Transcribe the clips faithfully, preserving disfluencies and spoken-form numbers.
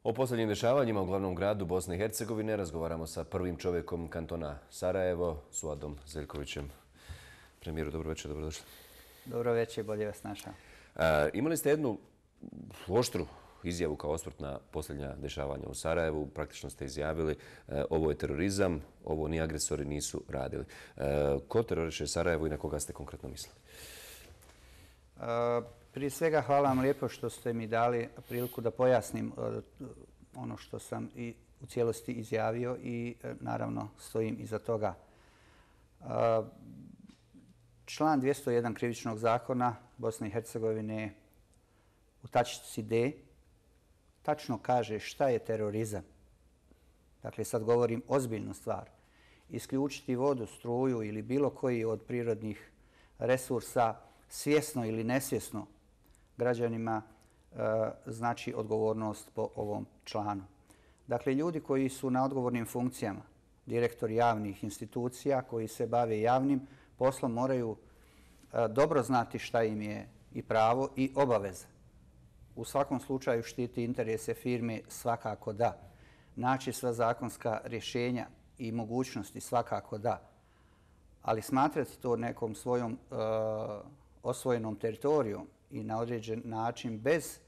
O posljednjim dešavanjima u glavnom gradu Bosne i Hercegovine razgovaramo sa prvim čovjekom kantona Sarajevo, Suadom Zeljkovićem. Premijeru, dobro večer, dobrodošli. Dobro večer, bolje vas našao. Imali ste jednu oštru izjavu kao osvrt na posljednja dešavanja u Sarajevu. Praktično ste izjavili ovo je terorizam, ovo ni agresori nisu radili. Ko teroriše Sarajevo i na koga ste konkretno mislili? Prije svega hvala vam lijepo što ste mi dali priliku da pojasnim ono što sam i u cijelosti izjavio i naravno stojim iza toga. Član dvjesto jedan krivičnog zakona Bosne i Hercegovine u tačici D tačno kaže šta je terorizam. Dakle, sad govorim ozbiljnu stvar. Isključiti vodu, struju ili bilo koji od prirodnih resursa svjesno ili nesvjesno građanima znači odgovornost po ovom članu. Dakle, ljudi koji su na odgovornim funkcijama, direktori javnih institucija koji se bave javnim poslom moraju dobro znati šta im je i pravo i obaveza. U svakom slučaju štiti interese firme svakako da. Naći sva zakonska rješenja i mogućnosti svakako da. Ali smatrati to nekom svojom uh, osvojenom teritorijom i na određen način bez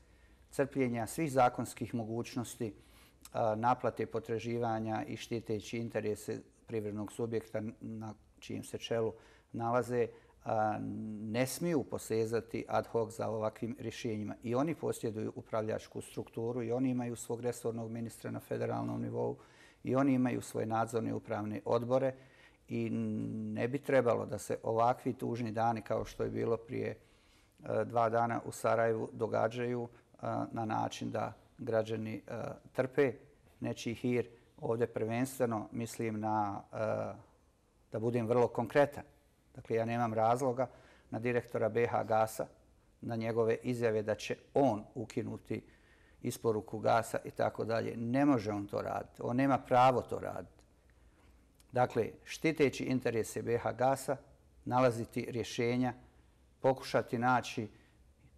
crpljenja svih zakonskih mogućnosti uh, naplate potraživanja i štiteći interese privrednog subjekta na čijim se čelu nalaze, ne smiju posezati ad hoc za ovakvim rješenjima. I oni posjeduju upravljačku strukturu i oni imaju svog resornog ministra na federalnom nivou i oni imaju svoje nadzorne upravne odbore i ne bi trebalo da se ovakvi tužni dani kao što je bilo prije dva dana u Sarajevu događaju na način da građani trpe nečiji hir. Ovdje prvenstveno mislim na, da budem vrlo konkretan, dakle, ja nemam razloga na direktora B H Gasa, na njegove izjave da će on ukinuti isporuku gasa i tako dalje. Ne može on to raditi. On nema pravo to raditi. Dakle, štiteći interese B H Gasa, nalaziti rješenja, pokušati naći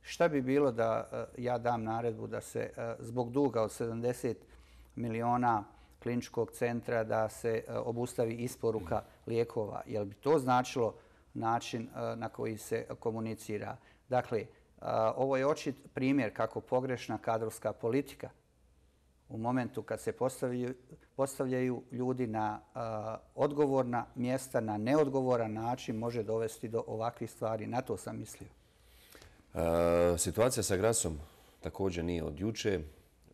šta bi bilo da ja dam naredbu da se zbog duga od sedamdeset miliona kliničkog centra da se obustavi isporuka lijekova. Jel bi to značilo način na koji se komunicira? Dakle, ovo je očit primjer kako pogrešna kadrovska politika u momentu kad se postavljaju, postavljaju ljudi na odgovorna mjesta, na neodgovoran način može dovesti do ovakvih stvari. Na to sam mislio. E, situacija sa Grasom također nije od juče.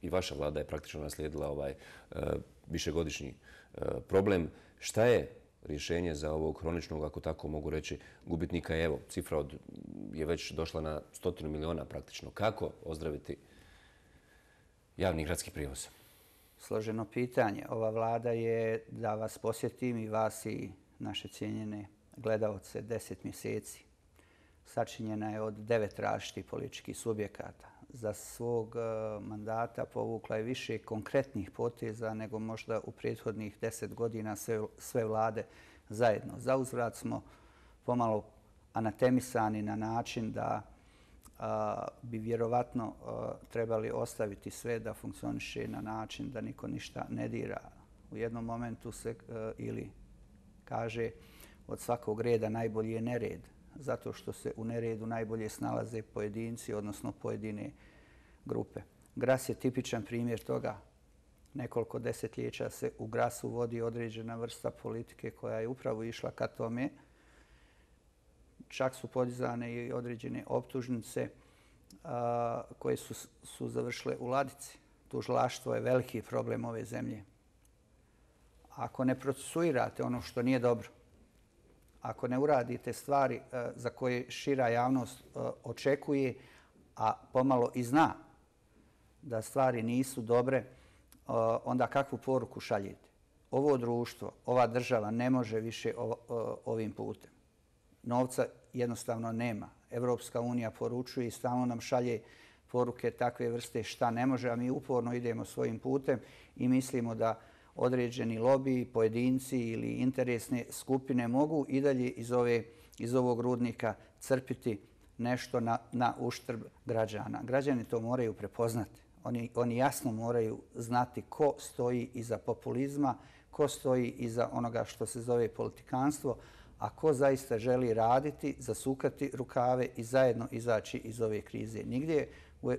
I vaša vlada je praktično naslijedila ovaj uh, višegodišnji uh, problem. Šta je rješenje za ovog hroničnog, ako tako mogu reći, gubitnika? Evo, cifra od, je već došla na stotinu miliona praktično. Kako ozdraviti javni gradski prijevoz? Složeno pitanje. Ova vlada je, da vas posjetim i vas i naše cijenjene gledaoce, deset mjeseci. Sačinjena je od devet različitih političkih subjekata. Za svog mandata povukla je više konkretnih poteza nego možda u prethodnih deset godina sve, sve vlade zajedno. Za uzvrat smo pomalo anatemisani na način da a, bi vjerovatno a, trebali ostaviti sve da funkcioniše na način da niko ništa ne dira. U jednom momentu se a, ili kaže od svakog reda najbolji je nered, zato što se u neredu najbolje snalaze pojedinci, odnosno pojedine grupe. Gras je tipičan primjer toga. Nekoliko desetljeća se u Grasu vodi određena vrsta politike koja je upravo išla ka tome. Čak su podizane i određene optužnice a, koje su, su završile u ladici. Tužilaštvo je veliki problem ove zemlje. Ako ne procesuirate ono što nije dobro, ako ne uradite stvari uh, za koje šira javnost uh, očekuje, a pomalo i zna da stvari nisu dobre, uh, onda kakvu poruku šaljete? Ovo društvo, ova država ne može više o, o, ovim putem. Novca jednostavno nema. Evropska unija poručuje i stalno nam šalje poruke takve vrste šta ne može, a mi uporno idemo svojim putem i mislimo da određeni lobiji, pojedinci ili interesne skupine mogu i dalje iz, ove, iz ovog rudnika crpiti nešto na, na uštrb građana. Građani to moraju prepoznati. Oni, oni jasno moraju znati ko stoji iza populizma, ko stoji iza onoga što se zove politikanstvo, a ko zaista želi raditi, zasukati rukave i zajedno izaći iz ove krize. Nigdje u,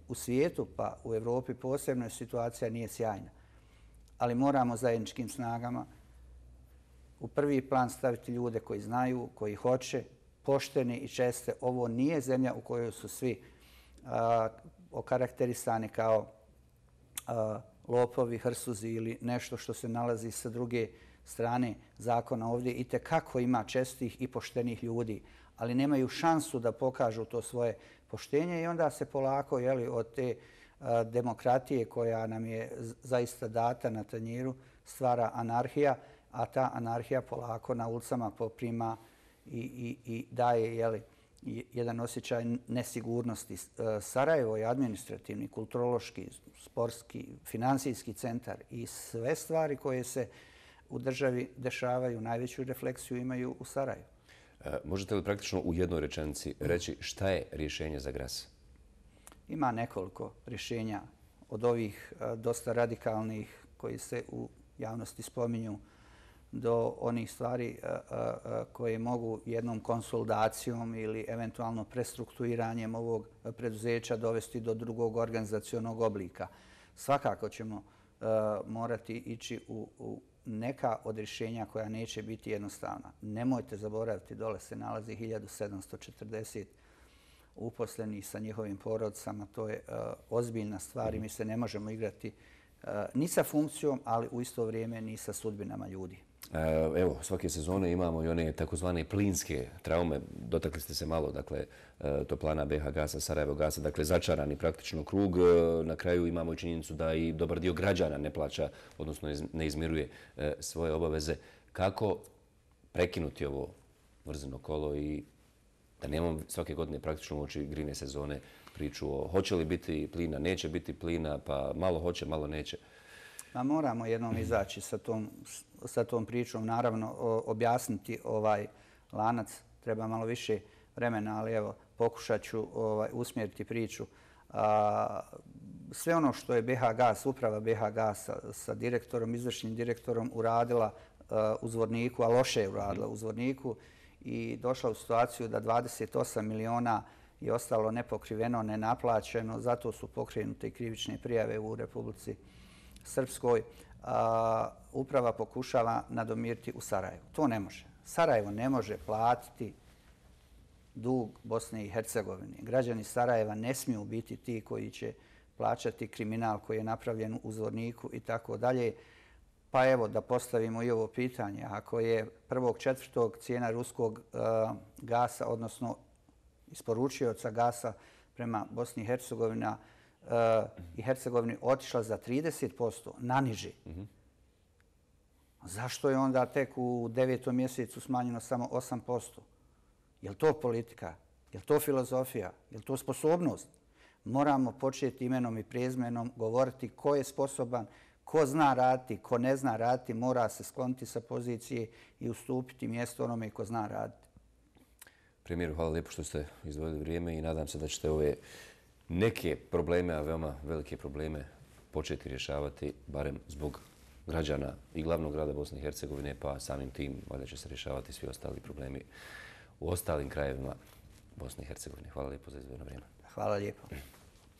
u svijetu, pa u Evropi posebno, situacija nije sjajna. Ali moramo zajedničkim snagama u prvi plan staviti ljude koji znaju, koji hoće, pošteni i česte. Ovo nije zemlja u kojoj su svi a, okarakterisani kao a, lopovi, hrsuzi ili nešto što se nalazi sa druge strane zakona. Ovdje i tekako ima čestih i poštenih ljudi, ali nemaju šansu da pokažu to svoje poštenje i onda se polako jeli, od te a, demokratije koja nam je zaista data na tanjiru stvara anarhija, a ta anarhija polako na ulicama poprima i, i, i daje jeli, jedan osjećaj nesigurnosti. Sarajevo je administrativni, kulturološki, sportski, finansijski centar i sve stvari koje se u državi dešavaju, najveću refleksiju imaju u Sarajevu. E, možete li praktično u jednoj rečenici reći šta je rješenje za Gras? Ima nekoliko rješenja od ovih dosta radikalnih koji se u javnosti spominju do onih stvari koje mogu jednom konsoldacijom ili eventualno prestrukturiranjem ovog preduzeća dovesti do drugog organizacionog oblika. Svakako ćemo morati ići u, u neka od rješenja koja neće biti jednostavna. Nemojte zaboraviti, dole se nalazi hiljadu sedamsto četrdeset uposlenih sa njihovim porodicama. To je ozbiljna stvar i mi se ne možemo igrati ni sa funkcijom, ali u isto vrijeme ni sa sudbinama ljudi. Evo, svake sezone imamo i one takozvane plinske traume. Dotakli ste se malo, dakle, toplana B H Gasa, Sarajevo Gasa, dakle, začarani praktično krug. Na kraju imamo i činjenicu da i dobar dio građana ne plaća, odnosno ne izmiruje svoje obaveze. Kako prekinuti ovo mrzino kolo i da nemamo svake godine praktično u oči grine sezone priču o hoće li biti plina, neće biti plina, pa malo hoće, malo neće? Ma moramo jednom izaći sa tom, sa tom pričom. Naravno, objasniti ovaj lanac treba malo više vremena, ali evo, pokušat ću ovaj, usmjeriti priču. A, sve ono što je B H Gas, uprava B H Gasa sa direktorom, izvršnim direktorom uradila a, u Zvorniku, a loše je uradila u Zvorniku i došla u situaciju da dvadeset osam miliona je ostalo nepokriveno, nenaplaćeno. Zato su pokrenute i krivične prijave u Republici Srpskoj. A, uprava pokušava nadomiriti u Sarajevu. To ne može. Sarajevo ne može platiti dug Bosne i Hercegovine. Građani Sarajeva ne smiju biti ti koji će plaćati kriminal koji je napravljen u Zvorniku i tako dalje. Pa evo da postavimo i ovo pitanje. Ako je prvog četvrtog cijena ruskog a, gasa, odnosno isporučioca gasa prema Bosni i Hercegovina uh, i Hercegovini otišla za trideset posto na niži. Mm-hmm. Zašto je onda tek u devetom mjesecu smanjeno samo osam posto? Je li to politika? Je li to filozofija? Je li to sposobnost? Moramo početi imenom i prezmenom govoriti ko je sposoban, ko zna raditi, ko ne zna raditi, mora se skloniti sa pozicije i ustupiti mjesto onome ko zna raditi. Premijeru, hvala lijepo što ste izdvojili vrijeme i nadam se da ćete ove neke probleme, a veoma velike probleme, početi rješavati, barem zbog građana i glavnog grada Bosne i Hercegovine, pa samim tim valjda će se rješavati svi ostali problemi u ostalim krajevima Bosne i Hercegovine. Hvala lijepo za izdvojeno vrijeme. Hvala lijepo.